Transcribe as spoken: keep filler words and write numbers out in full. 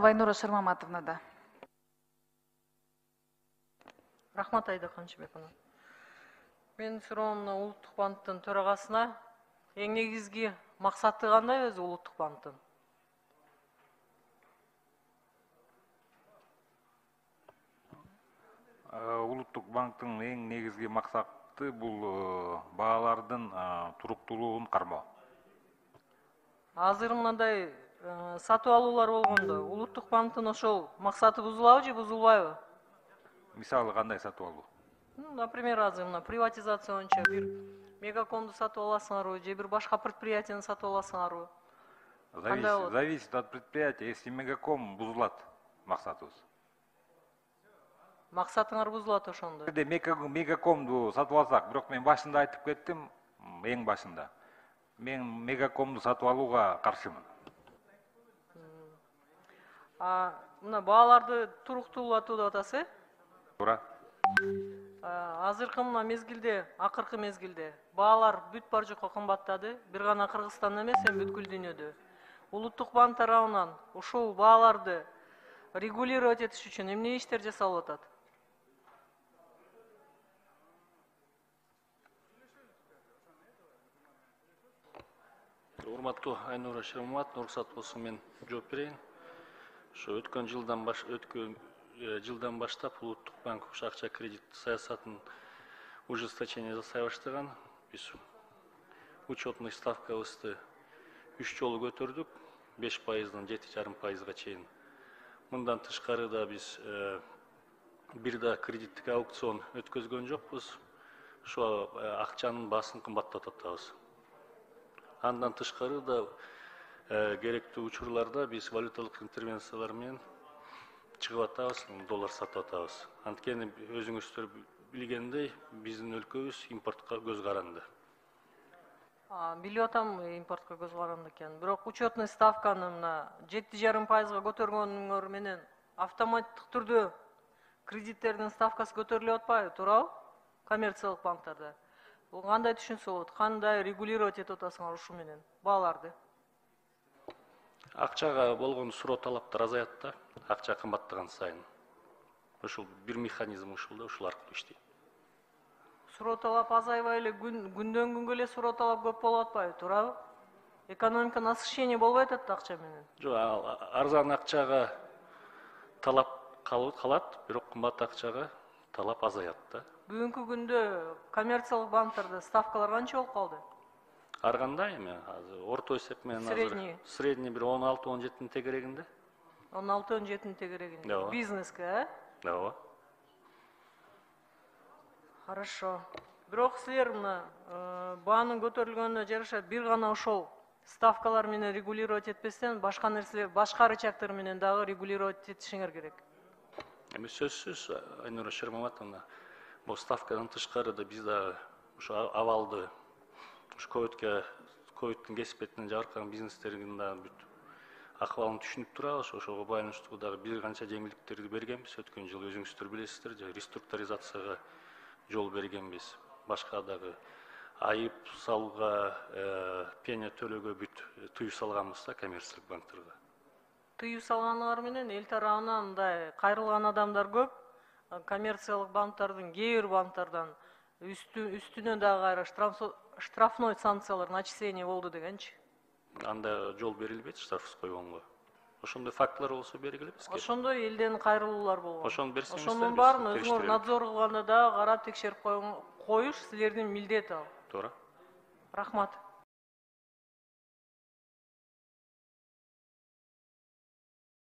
Айнура Шармаматовна да. Рахмат Айда Канчыбековна. Мен суроом Улуттук банктын төрагасына эң негизги максаты кандай өзү Улуттук банктын? Улуттук банктын эң негизги максаты бул баалардын туруктуулугун кармоо. Азыр мындай сатып алуулар болгондо Улуттук банктын ошол максаты бузулабы же бузулбайбы? Мисалы кандай сатып алуу? Например, азыр мына приватизация боюнча бир мегакомду сатып аласыңарбы же бир башка предприятияны сатып аласыңарбы? Зависит от предприятия. Если мегаком бузулат максатыбыз. Максатыңар бузулат ошондо. Мегакомду сатып алсак, бирок мен башында айтып кеттим, эң башында. Мен мегакомду сатып алууга каршымын. А мына бааларды туруктуулатуу деп атасыз, э? Туура. Азыркы мына мезгилде, акыркы мезгилде баалар бүт бар жокко кымбаттады. Бир гана Кыргызстанда эмес, эми бүткүл дүйнөдө. Улуттук банк тарабынан ушул бааларды регулировать этиш үчүн эмне иштер жасалып атат? Урматтуу Айнура Шармаматовна, уруксат болсо мен жооп берейин. Ошо өткөн жылдан баш өткөн жылдан баштап Улуттук банк ушу акча кредит саясатын ужесточение жасай баштаган. Биз учетный ставкабызды үч жолу көтөрдүк, беш пайыздан жети жарым пайызга чейин. Мындан тышкары да биз бир да кредиттик аукцион өткөзгөн жокпуз. Ошо акчанын баасын кымбаттатып атабыз. Андан тышкары да керектүү учурларда биз валюталык интервенциялар менен чыгып атабыз, доллар сатып атабыз. Анткени өзүңүздөр билгендей, биздин өлкөбүз импортко көз каранды. Билип атам, импортко көз каранды экен. Бирок учетный ставканы мына жети жарым пайызга көтөргөнүңөр менен автоматтык түрдө кредиттердин ставкасы көтөрүлүп атпайбы, туурабы? Коммерциялык банктарда. Бул кандай түшүнсө болот? Кандай регулировать этип атасыңар ушу менен бааларды? Акчага болгон суроо талаптар азаят да, акча кымбаттаган сайын. Ушул бир механизм ушул да, ушул аркылуу иштейт. Суроо талап азайбай эле күндөн күнгө эле суроо талап көп болуп атпайбы, туурабы? Экономика насыщение болбой атат да акча менен. Жок, арзан акчага талап калат, бирок кымбат акчага талап азаят да. Бүгүнкү күндө коммерциялык банктарда ставкалар канча болуп калды? Ар кандай эми азыр орто эсеп менен азыр средний бир он алты он жетинин тегерегинде. он алты он жетинин тегерегинде. Бизнеске, э? Ооба. Хорошо. Бирок силер мына баанын көтөрүлгөнүнө жараша бир гана ошол ставкалар менен регулировать этпестен башка нерселер, башка рычагдар менен дагы регулировать этишиңер керек. Эми сөзсүз Айнура Шармаматовна, бул ставкадан тышкары да биз да ушу абалды ушу ковидке ковидтин кесипетинен жабыркаган бизнестердин да бүт акыбалын түшүнүп турабыз. Ошого байланыштуу дагы бир канча жеңилдиктерди бергенбиз. Өткөн жылы өзүңүздөр билесиздер, реструктуризацияга жол бергенбиз. Башка дагы айып салууга, пеня төлөөгө бүт тыюу салганбыз да коммерциялык банктарга. Тыюу салганыңар менен эл тарабынан мындай кайрылган адамдар көп. Коммерциялык банктардын кээ бир банктардан үстүнө дагы кайра штрафной санкциялар начисление болду дегенчи. Анда жол берилбейт штраф койгонго. Ошондой фактылар болсо бергиле бизге. Ошондой элден кайрылуулар болгон. Ошону берсеңиздер. Ошонун баарын өзүңөр надзор кылганда дагы карап текшерип коюш силердин милдети ал. Туура. Рахмат.